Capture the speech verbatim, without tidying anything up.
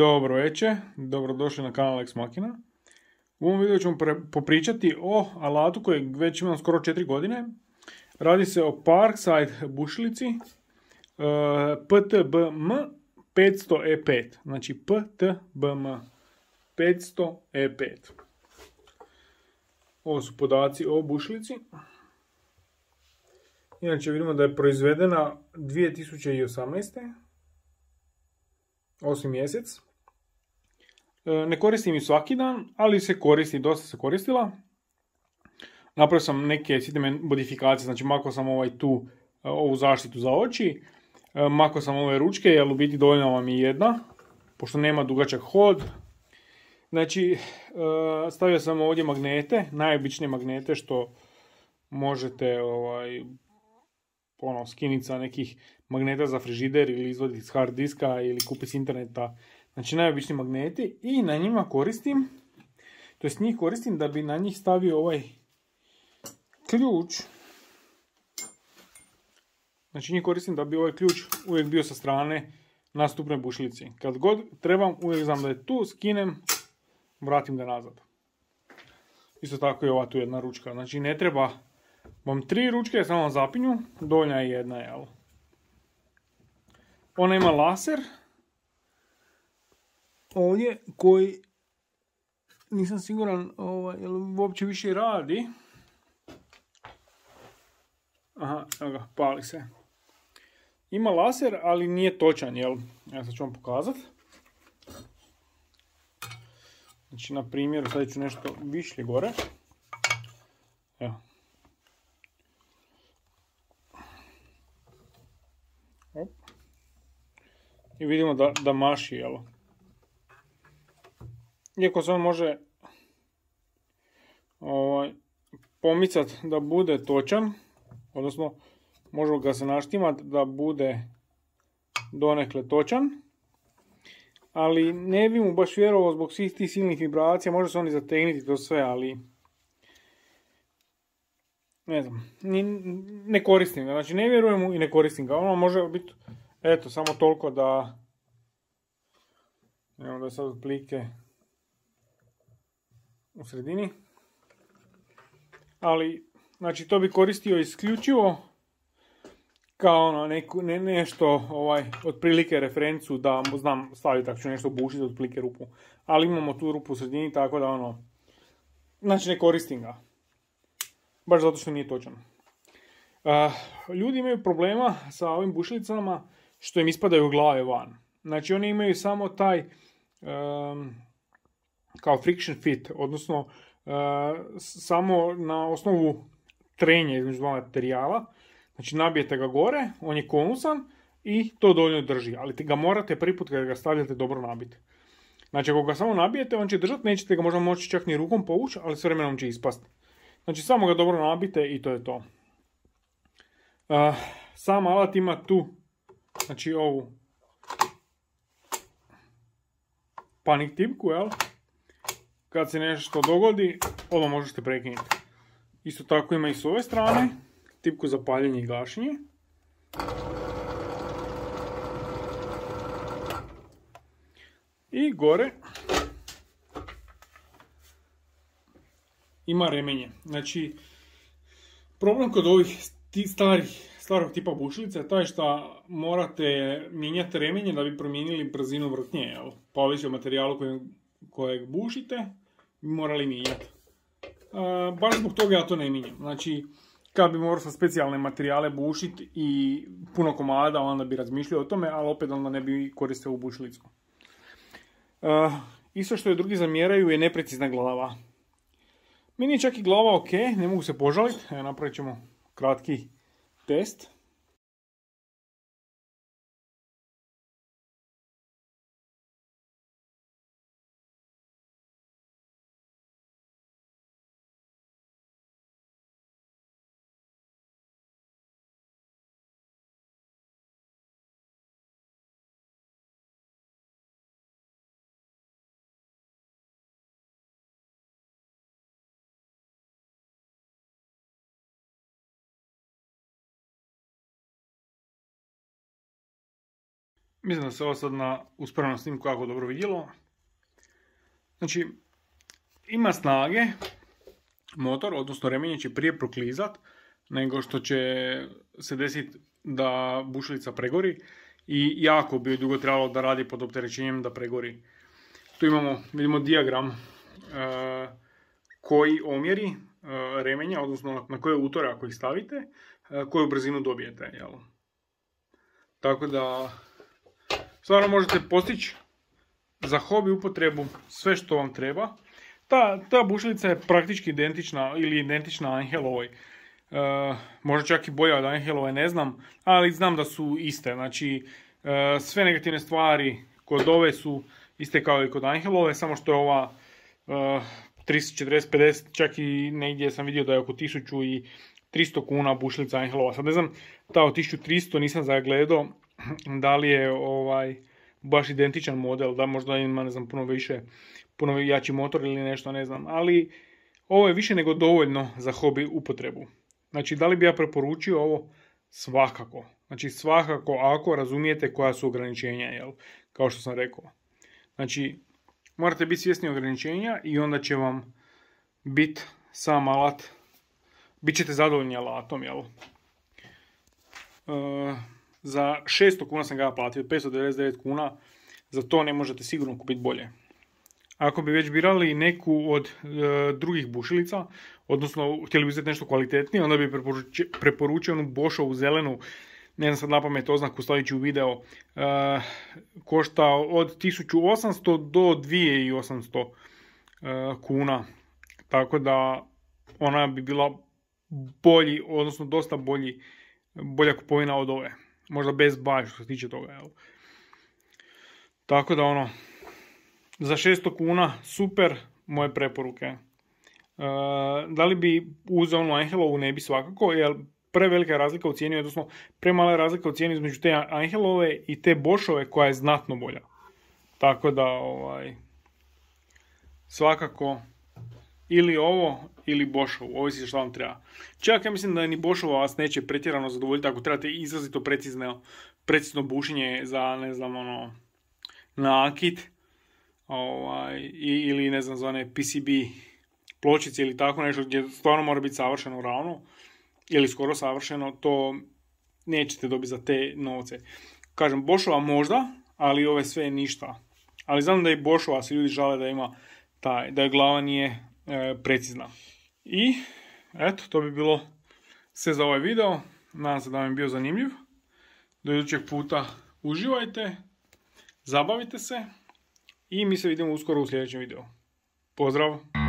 Dobro večer, dobrodošli na kanal Ex Machina. U ovom videu ćemo popričati o alatu kojeg već imam skoro četiri godine. Radi se o Parkside bušilici uh, P T B M petsto E pet. Znači P T B M petsto E pet. Ovo su podaci o bušilici. Inače vidimo da je proizvedena dvije tisuće osamnaeste. osmi mjesec. Ne koristim ju svaki dan, ali se koristi, dosta se koristila. Napravio sam neke sitne modifikacije, znači makao sam ovaj tu, ovu zaštitu za oči, makao sam ove ručke, jer u biti dovoljna vam je jedna, pošto nema dugačak hod. Znači, stavio sam ovdje magnete, najobičnije magnete što možete ovaj, ono, skiniti sa nekih magneta za frižider ili izvoditi s hard diska ili kupiti s interneta. Znači najobičniji magneti i na njima koristim, to jest njih koristim da bi na njih stavio ovaj ključ. Znači njih koristim da bi ovaj ključ uvijek bio sa strane na stupnoj bušilici. Kad god trebam, uvijek znam da je tu, skinem, vratim ga nazad. Isto tako je ova tu jedna ručka. Znači ne treba vam tri ručke, samo vam zapinju, dovoljna je jedna, jel? Ona ima laser ovdje koji nisam siguran ovaj, jel uopće više radi. Aha, evo ga, pali se. Ima laser, ali nije točan, jel? Ja sad ću vam pokazati. Znači, na primjer, sad ću nešto višlje gore. Evo. Op. I vidimo da, da maši, jel? Iako se on može ovaj, pomicati da bude točan, odnosno može ga se naštimati da bude donekle točan, ali ne bi mu baš vjerovao zbog svih tih silnih vibracija, može se oni zategniti to sve, ali ne znam, ne koristim ga, znači ne vjerujem mu i ne koristim ga, ono može biti, eto, samo toliko da, evo da je sad otprilike u sredini, ali znači to bi koristio isključivo kao ono, neku, ne, nešto ovaj, otprilike referencu da znam staviti ako ću nešto bušiti otprilike rupu, ali imamo tu rupu u sredini, tako da ono, znači ne koristim ga, baš zato što nije točan. Uh, ljudi imaju problema sa ovim bušilicama što im ispadaju glave van, znači oni imaju samo taj um, kao friction fit, odnosno uh, samo na osnovu trenja između dva materijala, znači nabijete ga gore, on je konusan i to dovoljno drži, ali ga morate prvi put kada ga stavljate dobro nabiti. Znači ako ga samo nabijete, on će držati, nećete ga možda moći čak ni rukom povući, ali s vremenom će ispasti. Znači samo ga dobro nabite i to je to. Uh, sam alat ima tu, znači ovu panik tipku, jel? Kad se nešto dogodi, ovo možete prekinuti. Isto tako ima i s ove strane, tipku za paljenje i gašenje. I gore ima remenje. Znači, problem kod ovih starih, starog tipa bušilica je taj što morate mijenjati remenje da bi promijenili brzinu vrtnje, jel? Pa ovisi o materijalu kojeg, kojeg bušite, bi morali mijenjati. Uh, baš zbog toga ja to ne mijenjam. Znači, kad bi morao sa specijalne materijale bušiti i puno komada, onda bi razmišljao o tome, ali opet onda ne bi koristio ovu bušilicu. Uh, isto što je drugi zamjeraju je neprecizna glava. Meni je čak i glava ok, ne mogu se požaliti. Evo, napravit ćemo kratki test. Mislim da se ovo sad na uspravnom snimku jako dobro vidjelo. Znači, ima snage, motor, odnosno remenje će prije proklizat nego što će se desiti da bušilica pregori i jako bi dugo trebalo da radi pod opterećenjem da pregori. Tu imamo, vidimo dijagram e, koji omjeri e, remenja, odnosno na koje utore ako ih stavite, e, koju brzinu dobijete. Jel? Tako da stvarno možete postići za hobi upotrebu sve što vam treba. Ta, ta bušilica je praktički identična ili identična Angelovoj. E, možda čak i bolja od Angelove, ne znam, ali znam da su iste. Znači, e, sve negativne stvari kod ove su iste kao i kod Angelove, samo što je ova e, tristo četrdeset pedeset, čak i negdje sam vidio da je oko tisuću tristo kuna bušilica Angelova. Sad ne znam, ta od tisuću tristo nisam zagledao da li je ovaj baš identičan model, da možda ima, ne znam, puno više, puno jači motor ili nešto, ne znam, ali ovo je više nego dovoljno za hobi upotrebu. Znači, da li bi ja preporučio ovo? Svakako. Znači, svakako ako razumijete koja su ograničenja, jel? Kao što sam rekao. Znači, morate biti svjesni ograničenja i onda će vam biti sam alat, bit ćete zadovoljni alatom, jel? E, za šesto kuna sam ga platio, petsto devedeset devet kuna, za to ne možete sigurno kupiti bolje. Ako bi već birali neku od e, drugih bušilica, odnosno htjeli bi uzeti nešto kvalitetnije, onda bi preporučio, preporučio onu Boschovu zelenu, ne znam sad napamet oznaku, stavit ću u video, e, košta od tisuću osamsto do dvije tisuće osamsto e, kuna. Tako da ona bi bila bolji, odnosno dosta bolji, bolja kupovina od ove. Možda bez baš što se tiče toga. Jel? Tako da ono, za šesto kuna super, moje preporuke. E, da li bi uzeo onu Angelovu? Ne bi svakako, jer prevelika razlika u cijeni, odnosno premala razlika u cijeni između te Angelove i te Boschove koja je znatno bolja. Tako da ovaj, svakako ili ovo ili Boschovu, ovisi što vam treba. Čak ja mislim da ni Boschova vas neće pretjerano zadovoljiti ako trebate izrazito precizno, precizno bušenje za, ne znam, ono, nakit, ovaj, ili ne znam, za one P C B pločice ili tako nešto gdje stvarno mora biti savršeno ravno ili skoro savršeno, to nećete dobiti za te novce. Kažem, Boschova možda, ali ove sve ništa. Ali znam da i Boschova se ljudi žale da ima taj, da je glava nije e, precizna. I eto, to bi bilo sve za ovaj video. Nadam se da vam je bio zanimljiv. Do idućeg puta uživajte, zabavite se i mi se vidimo uskoro u sljedećem videu. Pozdrav!